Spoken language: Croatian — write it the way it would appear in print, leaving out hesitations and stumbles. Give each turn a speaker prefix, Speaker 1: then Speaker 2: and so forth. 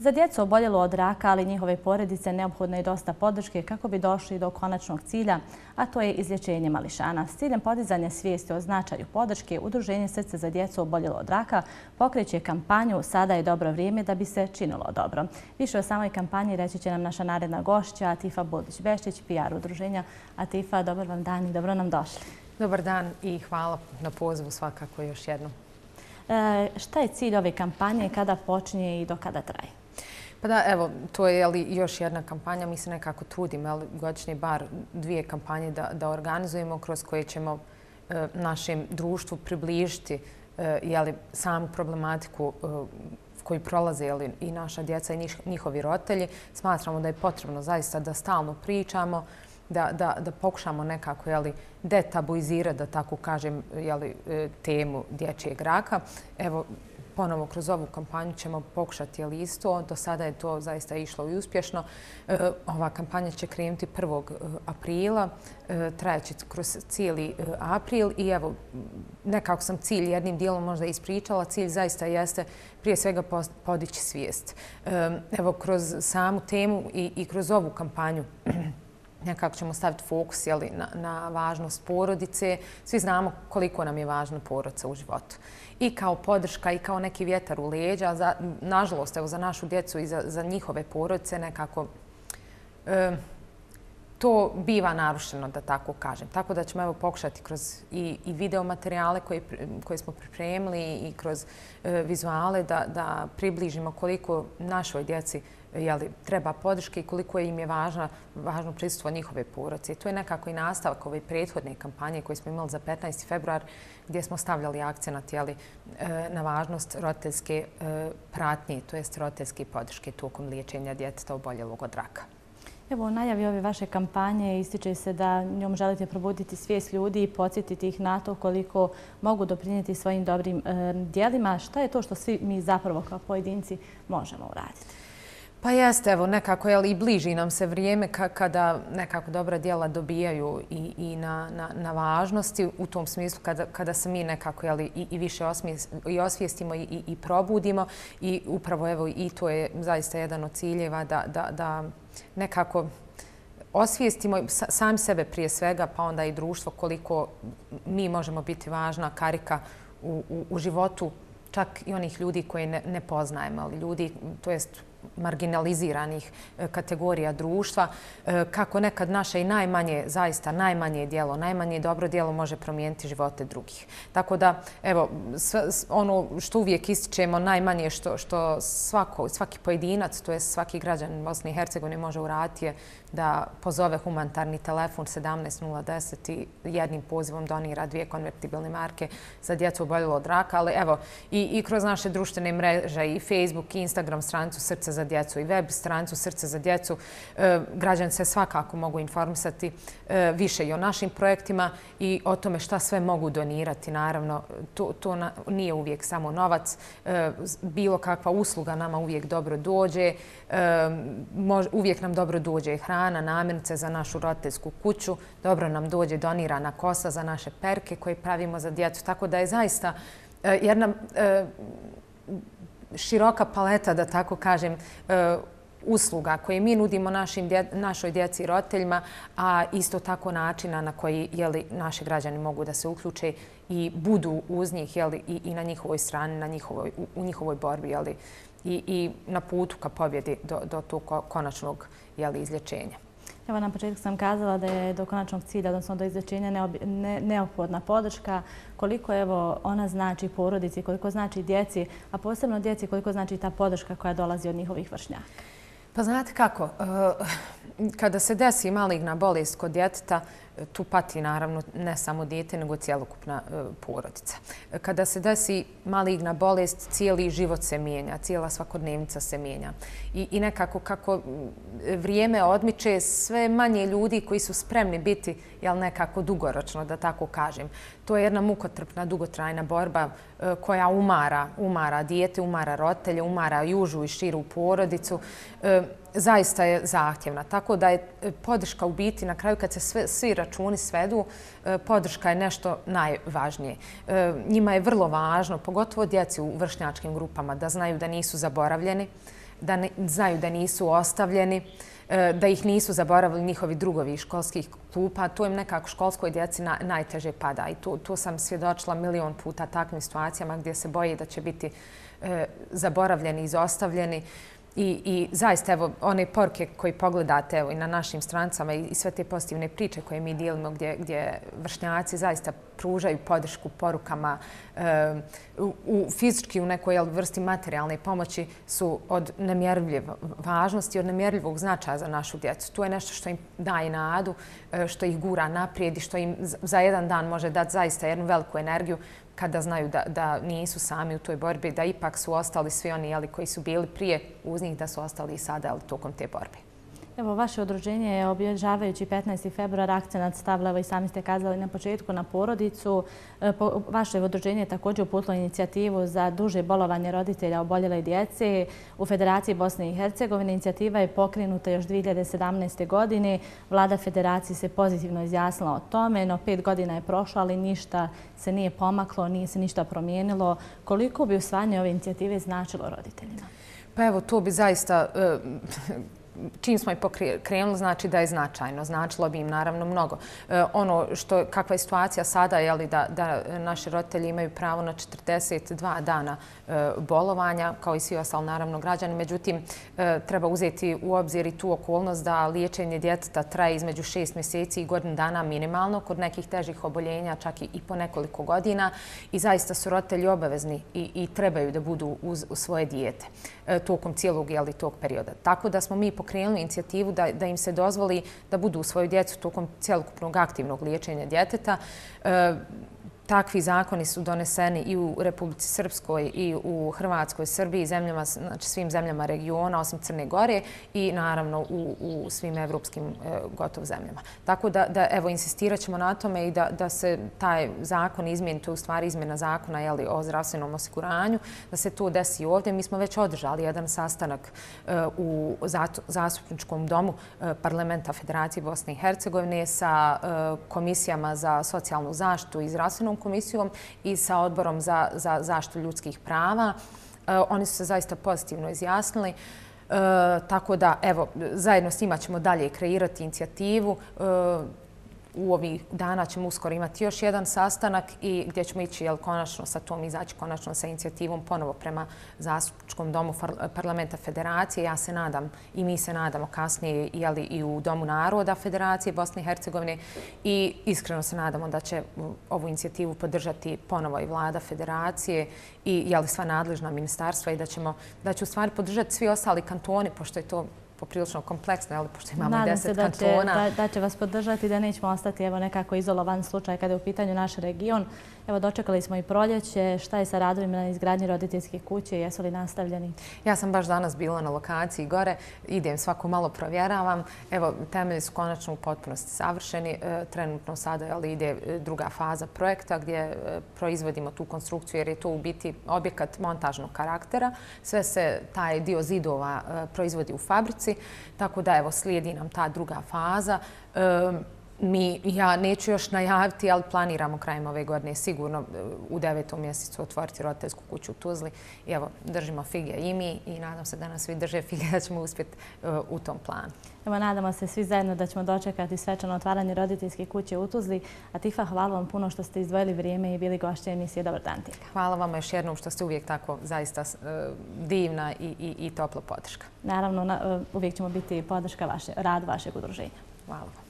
Speaker 1: Za djecu oboljelo od raka, ali njihove porodice, neophodno je dosta podrške kako bi došli do konačnog cilja, a to je izlječenje mališana. S ciljem podizanja svijesti o značaju podrške, Udruženje Srce za djecu oboljelo od raka pokreće kampanju "Sada je dobro vrijeme da bi se činilo dobro". Više o samoj kampanji reći će nam naša naredna gošća, Atifa Budić-Beštić, PR udruženja. Atifa, dobar vam dan i dobro nam došli.
Speaker 2: Dobar dan i hvala na pozivu svakako još jednom.
Speaker 1: Šta je cilj ove kampanje, kada počinje i do kada traje?
Speaker 2: Pa da, evo, to je još jedna kampanja. Mi se nekako trudimo godišnje bar 2 kampanje da organizujemo kroz koje ćemo našem društvu približiti samu problematiku koju prolaze i naša djeca i njihovi roditelji. Smatramo da je potrebno zaista da stalno pričamo, da pokušamo nekako detabuizirati, da tako kažem, temu dječjeg raka. Evo, ponovo kroz ovu kampanju ćemo pokušati isto. Do sada je to zaista išlo i uspješno. Ova kampanja će krenuti 1. aprila, trajeće kroz cijeli april i evo, nekako sam cilj jednim dijelom možda ispričala. Cilj zaista jeste prije svega podići svijest. Evo, kroz samu temu i kroz ovu kampanju nekako ćemo staviti fokus na važnost porodice. Svi znamo koliko nam je važna porodica u životu. I kao podrška i kao neki vjetar u leđa. Nažalost, evo, za našu djecu i za njihove porodice nekako to biva narušeno, da tako kažem. Tako da ćemo evo pokušati kroz i video materijale koje smo pripremili i kroz vizuale da približimo koliko našoj djeci treba podrške i koliko im je važno prisustvo njihove porodice. I to je nekako i nastavak ove prethodne kampanje koje smo imali za 15. februar gdje smo stavljali akcenat na važnost roditeljske pratnje, to jest roditeljske podrške tokom liječenja djeteta oboljelog od raka.
Speaker 1: Evo, u najavi ove vaše kampanje ističe se da njom želite probuditi svijest ljudi i podsjetiti ih na to koliko mogu doprinijeti svojim dobrim djelima. Šta je to što svi mi zapravo kao pojedinci možemo uraditi?
Speaker 2: Pa jeste, evo, nekako i bliži nam se vrijeme kada nekako dobra djela dobijaju i na važnosti u tom smislu kada se mi nekako i više osvijestimo i probudimo i upravo evo i to je zaista jedan od ciljeva da nekako osvijestimo sami sebe prije svega, pa onda i društvo koliko mi možemo biti važna karika u životu čak i onih ljudi koje ne poznajemo, ali ljudi, to jest marginaliziranih kategorija društva, kako nekad naše i najmanje, zaista najmanje djelo, najmanje dobro djelo može promijeniti živote drugih. Tako da, evo, ono što uvijek ističemo, najmanje što svaki pojedinac, to je svaki građanin Bosne i Hercegovine može uraditi je da pozove humanitarni telefon 17010 i jednim pozivom donira 2 konvertibilne marke za djecu oboljelo od raka. Ali evo, i kroz naše društvene mreže, i Facebook, i Instagram stranicu Srce za djecu i web stranicu Srce za djecu, građani se svakako mogu informisati više i o našim projektima i o tome šta sve mogu donirati. Naravno, to nije uvijek samo novac. Bilo kakva usluga nama uvijek dobro dođe. Uvijek nam dobro dođe hrana, namirnice za našu roditeljsku kuću. Dobro nam dođe donirana kosa za naše perke koje pravimo za djecu. Tako da je zaista jedna široka paleta, da tako kažem, usluga koje mi nudimo našoj djeci i roditeljima, a isto tako načina na koji naši građani mogu da se uključe i budu uz njih i na njihovoj strani, u njihovoj borbi i na putu ka pobjedi do tog konačnog izlječenja.
Speaker 1: Evo, na početku sam kazala da je do konačnog cilja, odnosno do izlječenja, neophodna podrška. Koliko ona znači porodici, koliko znači djeci, a posebno djeci, koliko znači ta podrška koja dolazi od njihovih vršnjaka?
Speaker 2: Pa znate kako, kada se desi maligna bolest kod djeteta, tu pati naravno ne samo dijete, nego cjelokupna porodica. Kada se desi maligna bolest, cijeli život se mijenja, cijela svakodnevnica se mijenja. I nekako kako vrijeme odmiče, sve manje ljudi koji su spremni biti nekako dugoročno, da tako kažem. To je jedna mukotrpna, dugotrajna borba koja umara dijete, umara roditelje, umara i užu i širu porodicu. Zaista je zahtjevna. Tako da je podrška u biti, na kraju kad se svi računi svedu, podrška je nešto najvažnije. Njima je vrlo važno, pogotovo djeci u vršnjačkim grupama, da znaju da nisu zaboravljeni, da znaju da nisu ostavljeni, da ih nisu zaboravili njihovi drugovi iz školskih klupa. To im nekako školskoj djeci najteže pada. I tu sam svjedočila milion puta takvim situacijama gdje se boje da će biti zaboravljeni, izostavljeni. I zaista, evo, one poruke koje pogledate evo, i na našim stranicama i sve te pozitivne priče koje mi dijelimo gdje vršnjaci zaista pružaju podršku porukama u fizički u nekoj vrsti materijalne pomoći su od nemjerljive važnosti, od nemjerljivog značaja za našu djecu. To je nešto što im daje nadu, što ih gura naprijed i što im za jedan dan može dati zaista jednu veliku energiju kada znaju da nisu sami u toj borbi, da ipak su ostali svi oni koji su bili prije uz njih, da su ostali i sada tokom te borbe.
Speaker 1: Evo, vaše udruženje je obilježavajući 15. februar akcenat stavila, i sami ste kazali na početku, na porodicu. Vaše udruženje je također uputilo inicijativu za duže bolovanje roditelja oboljele djece u Federaciji Bosne i Hercegovine. Inicijativa je pokrenuta još 2017. godine. Vlada Federacije se pozitivno izjasnila o tome, no 5 godina je prošlo, ali ništa se nije pomaklo, nije se ništa promijenilo. Koliko bi usvajanje ove inicijative značilo roditeljima?
Speaker 2: Pa evo, to bi zaista... Čim smo i pokrenuli, znači da je značajno. Značilo bi im naravno mnogo. Ono kakva je situacija sada je da naši roditelji imaju pravo na 42 dana bolovanja, kao i svi ostali naravno građani. Međutim, treba uzeti u obzir i tu okolnost da liječenje djeteta traje između 6 mjeseci i godinu dana minimalno, kod nekih težih oboljenja čak i po nekoliko godina. I zaista su roditelji obavezni i trebaju da budu uz svoje dijete tokom cijelog tog perioda. Tako da smo mi pokrenuli inicijativu da im se dozvoli da budu uz svoju djecu tokom cjelokupnog aktivnog liječenja djeteta. Takvi zakoni su doneseni i u Republici Srpskoj i u Hrvatskoj, Srbiji, znači svim zemljama regiona osim Crne Gore i naravno u svim evropskim gotovo zemljama. Tako da evo insistirat ćemo na tome i da se taj zakon izmijeni, to je u stvari izmjena zakona o zdravstvenom osiguranju, da se to desi ovdje. Mi smo već održali jedan sastanak u zastupničkom domu Parlamenta Federacije Bosne i Hercegovine sa komisijama za socijalnu zaštitu i zdravstvenu komisijom i sa odborom za zaštitu ljudskih prava. Oni su se zaista pozitivno izjasnili. Tako da, evo, zajedno s njima ćemo dalje kreirati inicijativu. U ovih dana ćemo uskoro imati još jedan sastanak i gdje ćemo ići konačno sa tom, izaći konačno sa inicijativom ponovo prema zastupničkom domu Parlamenta Federacije. Ja se nadam i mi se nadamo kasnije i u Domu naroda Federacije Bosne i Hercegovine i iskreno se nadamo da će ovu inicijativu podržati ponovo i Vlada Federacije i sva nadležna ministarstva i da će u stvari podržati svi ostali kantoni, pošto je to poprilično kompleksno, pošto imamo 10 kantona.
Speaker 1: Nadam se da će vas podržati, da nećemo ostati nekako izolovan slučaj kada je u pitanju naš region. Evo, dočekali smo i proljeće. Šta je sa radovima na izgradnji roditeljskih kuće? Jesu li nastavljeni?
Speaker 2: Ja sam baš danas bila na lokaciji gore. Idem, svako malo provjeravam. Evo, temelji su konačno u potpunosti savršeni. Trenutno sada ide druga faza projekta gdje proizvodimo tu konstrukciju jer je to u biti objekat montažnog karaktera. Sve se taj dio zidova proizvodi u fabrici. Tako da, evo, slijedi nam ta druga faza. Ja neću još najaviti, ali planiramo krajem ove godine sigurno u 9. mjesecu otvoriti roditeljsku kuću u Tuzli. I evo, držimo fige i mi i nadam se da nas svi drže fige da ćemo uspjeti u tom planu.
Speaker 1: Evo, nadamo se svi zajedno da ćemo dočekati svečano otvaranje roditeljske kuće u Tuzli. Atifa, hvala vam puno što ste izdvojili vrijeme i bili gošće emisije Dobar dan, Tika.
Speaker 2: Hvala vam još jednom što ste uvijek tako zaista divna i topla podrška.
Speaker 1: Naravno, uvijek ćemo biti podrška radu vašeg udruženja.
Speaker 2: Hvala vam.